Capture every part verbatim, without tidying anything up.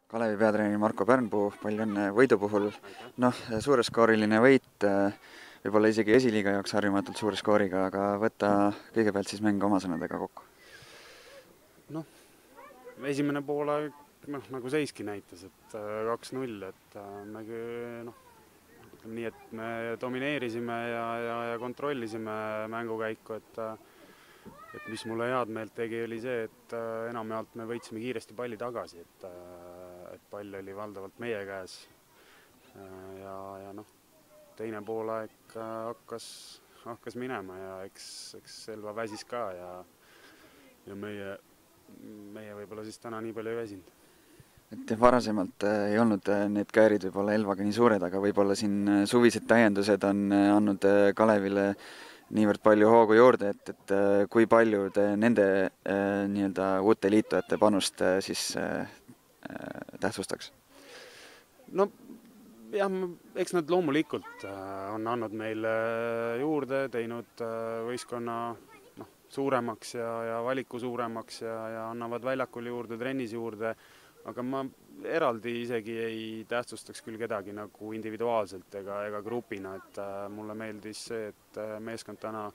Kalevi peatreener Marko Pärnpuu, palju õnne võidu puhul. Noh, suureskooriline võit, võib-olla isegi esiliiga jaoks harjumatult suure skooriga, aga võta kõigepealt siis mäng oma sõnadega kokku. Noh, esimene poole noh, nagu seiski näitas, et kaks null, et me noh, ütleme nii, et me domineerisime ja, ja, ja kontrollisime mängukäiku, et et mis mulle head meelt tegi, oli see, et enamjaolt me võitsime kiiresti palli tagasi, et, et pall oli valdavalt meie käes. Ja, ja noh, teine poolaeg hakkas, hakkas minema ja eks, eks Selva väsis ka ja, ja meie, meie võib-olla siis täna nii palju ei väsinud. Et varasemalt ei olnud need käärid võib-olla Elvaga nii suured, aga võib-olla siin suvised täiendused on andnud Kalevile niivõrd palju hoogu juurde, et, et kui palju te nende nii-öelda uute liitujate panust siis tähtsustaks? No jah, eks nad loomulikult on andnud meile juurde, teinud võistkonna noh, suuremaks ja, ja valiku suuremaks ja, ja annavad väljakul juurde, trennis juurde, aga ma eraldi isegi ei tähtsustaks küll kedagi nagu individuaalselt ega, ega grupina, et mulle meeldis see, et meeskond täna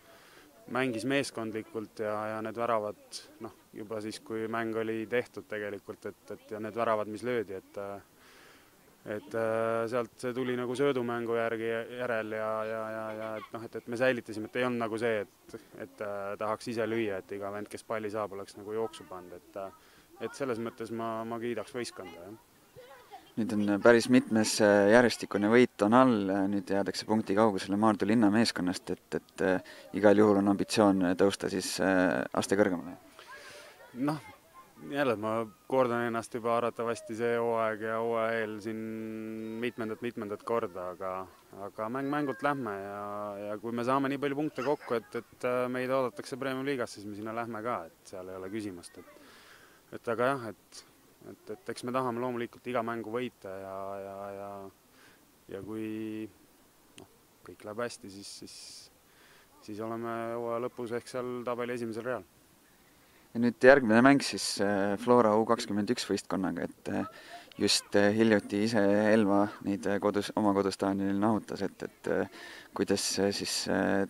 mängis meeskondlikult ja, ja need väravad, noh, juba siis, kui mäng oli tehtud tegelikult, et, et ja need väravad, mis löödi, et et sealt see tuli nagu söödumängu järgi järel ja, ja, ja, ja et noh, et, et me säilitasime, et ei olnud nagu see, et, et tahaks ise lüüa, et iga vend, kes palli saab, oleks nagu jooksu pannud, et et selles mõttes ma, ma kiidaks võistkonda, jah. Nüüd on päris mitmes järjestikune võit on all, nüüd jäädakse punkti kaugusele Maardu linna meeskonnast, et, et igal juhul on ambitsioon tõusta siis aste kõrgemale. Noh, jälle ma kordan ennast juba arvatavasti see hooaeg ja hooaja eel siin mitmendat-mitmendat korda, aga, aga mäng mängult lähme ja, ja kui me saame nii palju punkte kokku, et, et meid oodatakse Premium liigas, siis me sinna lähme ka, et seal ei ole küsimust, et et aga jah, et, et, et eks me tahame loomulikult iga mängu võita ja, ja, ja, ja kui no, kõik läheb hästi, siis, siis, siis oleme hooaja lõpus ehk seal tabeli esimesel real. Ja nüüd järgmine mäng siis Flora U kakskümmend üks võistkonnaga, et just hiljuti ise Elva neid kodus, oma kodustaanil nahutas, et, et kuidas siis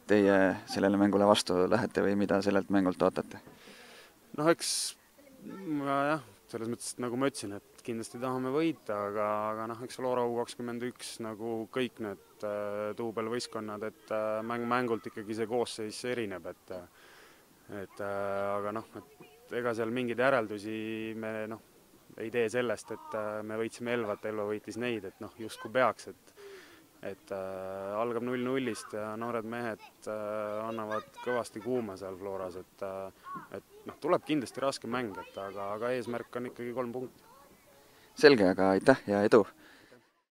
teie sellele mängule vastu lähete või mida sellelt mängult ootate? Noh, eks jah, selles mõttes, nagu ma ütlesin, et kindlasti tahame võita, aga, aga noh, eks Flora U kakskümmend üks nagu kõik need duubelvõistkonnad, et mäng mängult ikkagi see koosseis erineb, et et aga noh, et ega seal mingeid järeldusi me noh, ei tee sellest, et me võitsime Elvat, Elva võitis neid, et noh, justkui peaks, et et äh, algab null nullist ja noored mehed äh, annavad kõvasti kuuma seal Floras, et, äh, et noh, tuleb kindlasti raske mäng, et aga, aga eesmärk on ikkagi kolm punkti. Selge, aga aitäh ja edu!